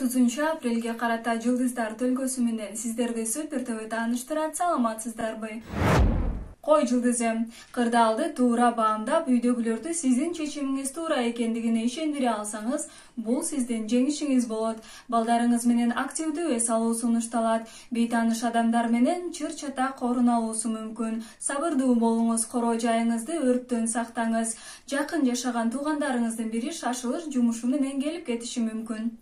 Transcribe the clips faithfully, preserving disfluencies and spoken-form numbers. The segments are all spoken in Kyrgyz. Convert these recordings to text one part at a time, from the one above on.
отузунчу апрелге карата Жылдыздар төлгөсү менен сиздерди Супер ТВ тааныштырат. Саламатсыздарбы? Кой жылдызы, кырдаалды туура баамдап, үйдөгүлөрдү сиздин чечимиңиз туура экендигине ишендире алсаңыз, бул сиздин жеңишиңиз болот. Балдарыңыз менен активдүү эс алуу сунушталат. Бейтааныш адамдар менен чыр-чатак орун алуусу мүмкүн. Сабырдуу болуңуз, короо жайыңызды өрттөн сактаңыз. Жакын жашаган туугандарыңыздын бири шашылыш жумушу менен келип кетиши мүмкүн.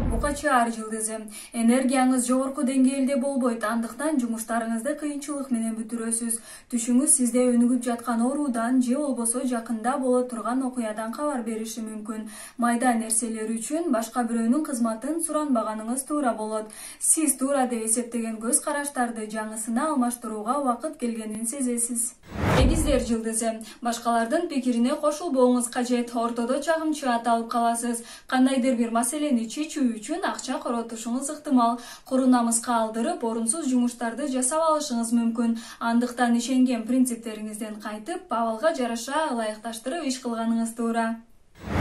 Бука чаар жылдызы, энергияңыз жогорку деңгээлде болбойт, андыктан жумуштарыңызды кыйынчылык менен бүтүрөсүз. Түшүңүз сизде өнүгүп жаткан оруудан же болбосо жакында боло турган окуядан кабар бериши мүмкүн. Майда нерселер үчүн башка бирөөнүн кызматын суранбаганыңыз туура болот. Сиз туура деп эсептеген көз караштарды жаңысына алмаштырууга убакыт келгенин сезесиз. Эгиздер жылдызы, башкалардын пикирине кошулбооңуз кажет, ортодо чагымчы аталып каласыз. Кандайдыр бир маселени чечүү үчүн акча коротушуңуз ыктымал. Куру намыска алдырып, орунсуз жумуштарды жасап алышыңыз мүмкүн. Андыктан ишенген принциптериңизден кайтып, абалга жараша ылайыкташтырып иш кылганыңыз туура.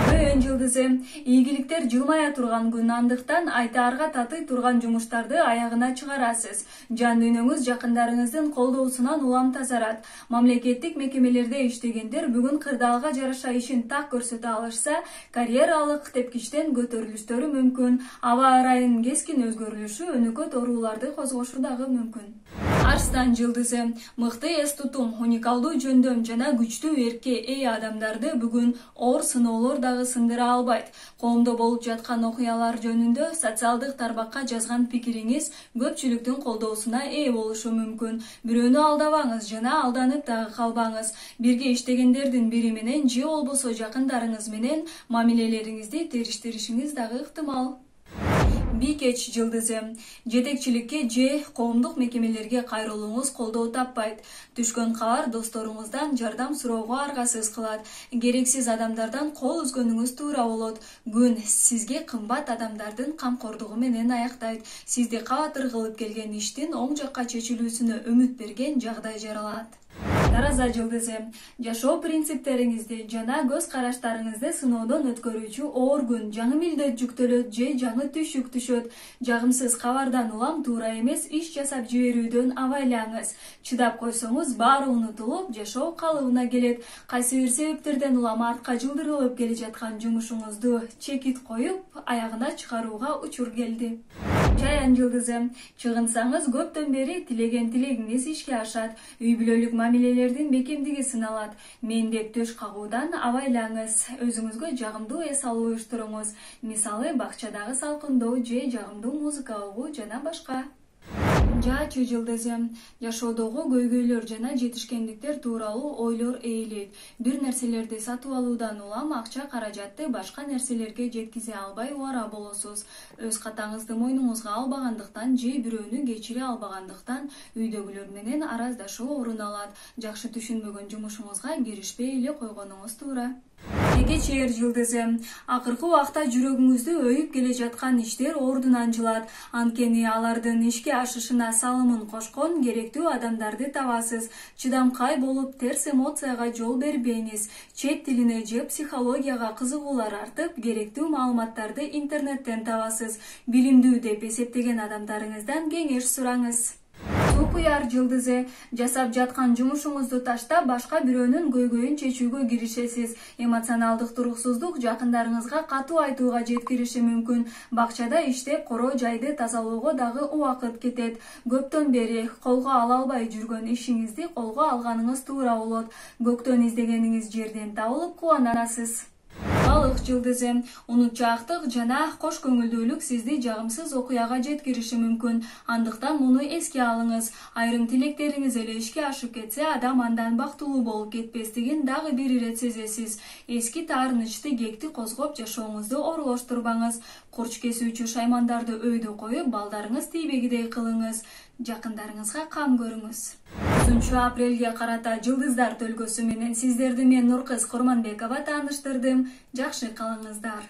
Көөн жылдызы, ийгиликтер жылмая турган күн, андыктан айтаарга татый турган жумуштарды аягына чыгарасыз. Жан дүйнөңүз жакындарыңыздын колдоосунан улам тазарат. Мамлекеттик мекемелерде иштегендер бүгүн кырдаалга жараша ишин так көрсөтө алышса, карьералык тепкичтен көтөрүлүштөрү мүмкүн. Аба ырайынын кескин өзгөрүлүшү өнөкөт ооруларды козгошу дагы мүмкүн. Арстан жылдызы, мыкты эс тутум, уникалдуу жөндөм жана күчтүү эркке ээ адамдарды бүгүн оор сыноолор дагы сындыра албайт. Коомдо болуп жаткан окуялар жөнүндө социалдык тармакка жазган пикириңиз көпчүлүктүн колдоосуна ээ болушу мүмкүн. Бирөөнү алдабаңыз жана алданып дагы калбаңыз. Бирге иштегендердин бири менен же болбосо жакындарыңыз менен мамилелериңизди териштиришиңиз дагы ыктымал. Бийкеч жылдызы, жетекчиликке же коомдук мекемелерге кайрылууңуз колдоо таппайт. Түшкөн кабар досторуңуздан жардам суроого аргасыз кылат. Керексиз адамдардан кол үзгөнүңүз туура болот. Күн сизге кымбат адамдардын камкордугу менен аяктайт. Сизди кабатыр кылып келген иштин оң жакка чечилүүсүнө үмүт берген жагдай жаралат. Тараза жылдызы, жашоо принциптериңизди жана көз караштарыңызды сыноодон өткөрүүчү оор күн, жаңы милдет жүктөлөт же жаңы түшүк түшөт. Жагымсыз кабардан улам туура эмес иш жасап жиберүүдөн абайлаңыз. Чыдап койсоңуз баары унутулуп, жашоо калыбына келет. Кайсы бир себептерден улам артка жылдырылып келе жаткан жумушуңузду чекит коюп, аягына чыгарууга учур келди. Чаян жылдызы, чыгынсаңыз көптөн бери тилеген тилегиңиз ишке ашат. Үй бүлөлүк мамилелердин бекемдиги сыналат. Мендеп төш кагуудан абайлаңыз. Өзүңүзгө жагымдуу эс алуу уюштуруңуз. Мисалы, бакчадагы салкындоо же жагымдуу музыка угуу жана башка. Жаачы жылдызы, жашоодогу көйгөйлөр жана жетишкендиктер тууралуу ойлор ээлейт. Бир нерселерди сатып алуудан улам акча каражатты башка нерселерге жеткизе албай убара болосуз. Өз катаңызды мойнуңузга албагандыктан же бирөөнү кечире албагандыктан үйдөгүлөр менен араздашуу орун алат. Жакшы түшүнбөгөн жумушуңузга киришпей эле койгонуңуз туура. Эге чээр жылдызы, акыркы убакта жүрөгүңүздү өйүп келе жаткан иштер ордунан жылат. Анткени алардын ишке ашышына салымын кошкон керектүү адамдарды табасыз. Чыдамкай болуп, терс эмоцияга жол бербеңиз. Чет тилине же психологияга кызыгуулар артып, керектүү маалыматтарды интернеттен табасыз. Билимдүү деп эсептеген адамдарыңыздан кеңеш сураңыз. Сукуяр жылдызы, жасап жаткан жумушуңузду таштап, башка бирөөнүн көйгөйүн чечүүгө киришесиз. Эмоционалдык туруксуздук жакындарыңызга катуу айтууга жеткириши мүмкүн. Бакчада иштеп, короо жайды тазалоого дагы убакыт кетет. Көптөн бери колго ала албай жүргөн ишиңизди колго алганыңыз туура болот. Көктөн издегениңиз жерден табылып кубанасыз. Балык жылдызы, унутчаактык жана кош көңүлдүүлүк сизди жагымсыз окуяга жеткириши мүмкүн. Андыктан муну эске алыңыз. Айрым тилектериңиз эле ишке ашып кетсе, адам андан бактылуу болуп кетпестигин дагы бир ирет сезесиз. Эски таарынычты кекти козгоп, жашооңузду оролоштурбаңыз. Курч кесүүчү шаймандарды өйдө коюп, балдарыңыз тийбегидей кылыңыз. Жакындарыңызга кам көрүңүз. отузунчу апрелге карата Жылдыздар төлгөсү менен сиздерди мен Нуркыз Курманбекова тааныштырдым. Жакшы калыңыздар.